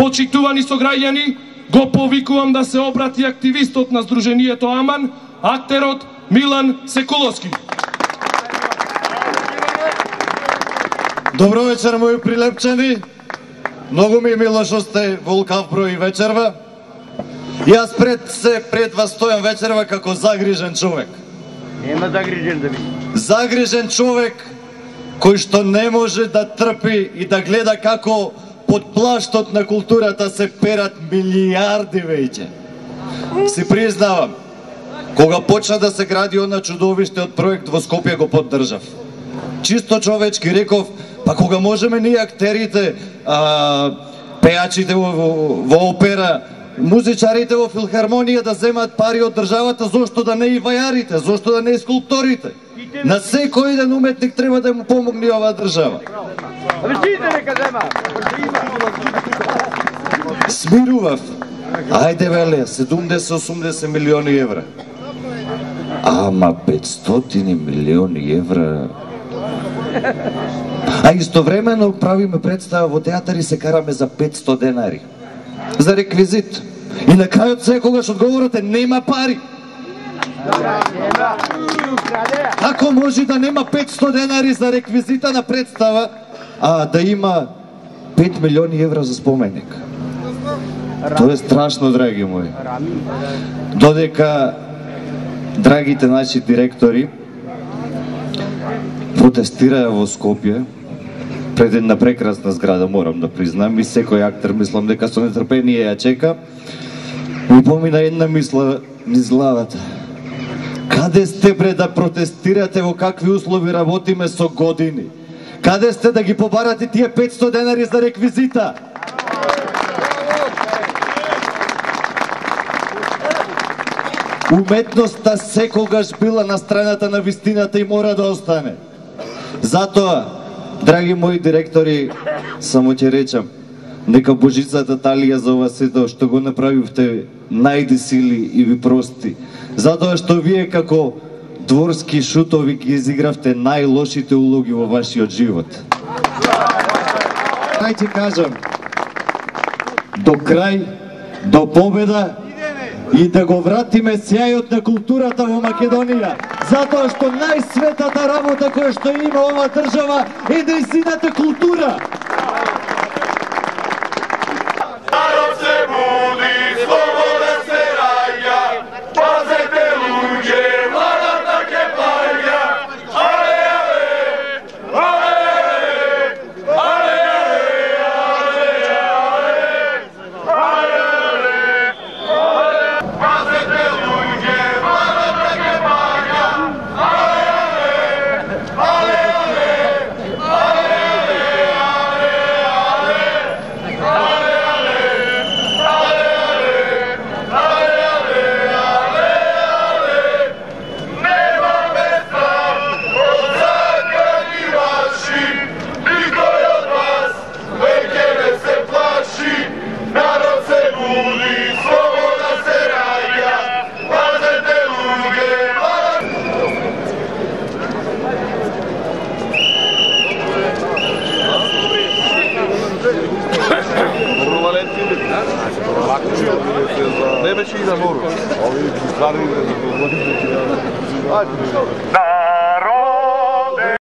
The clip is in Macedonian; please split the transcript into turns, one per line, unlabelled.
Почитувани сограѓани, го повикувам да се обрати активистот на Сдруженијето Аман, актерот Милан Секуловски.
Добро вечер, мои прилепчани. Многу ми е мило што сте во лукав број вечерва. Јас пред вас стојам вечерва како загрижен човек.
Нема загрижен да би.
Загрижен човек кој што не може да трпи и да гледа како под плаштот на културата се перат милиарди веќе. Си признавам, кога почна да се гради она чудовиште од проект во Скопје го поддржав. Чисто човечки реков, па кога можеме ние актерите, пеачите во опера, музичарите во филхармонија да земат пари од државата, зошто да не и вајарите, зошто да не и скулпторите? На секој ден уметник треба да му помогне оваа држава. Смирував. Ајде веле, 70-80 милиони евра. Ама 500 милиони евра. А истовремено правиме представа во театар и се караме за 500 денари. За реквизит. И на крајот секогаш одговорот е нема пари. Како може да нема 500 денари за реквизита на представа, а да има 5 милиони евра за споменик? Тоа е страшно, драги мои. Додека драгите наши директори протестираа во Скопје пред една прекрасна зграда, морам да признам, и секој актер мислам дека со нетрпение ја чека, ми помина една мисла низ главата. Каде сте бре да протестирате, во какви услови работиме со години? Каде сте да ги побарате тие 500 денари за реквизита? Уметноста секогаш била на страната на вистината и мора да остане. Затоа, драги мои директори, само ќе речам, нека Божицата Талија за ова сето што го направивте најди сили и ви прости. Затоа што вие како дворски шутови ги изигравте најлошите улоги во вашиот живот. Крај ти кажам, до крај, до победа и да го вратиме сјајот на културата во Македонија, затоа што најсветата работа која што има ова држава е нејзината култура.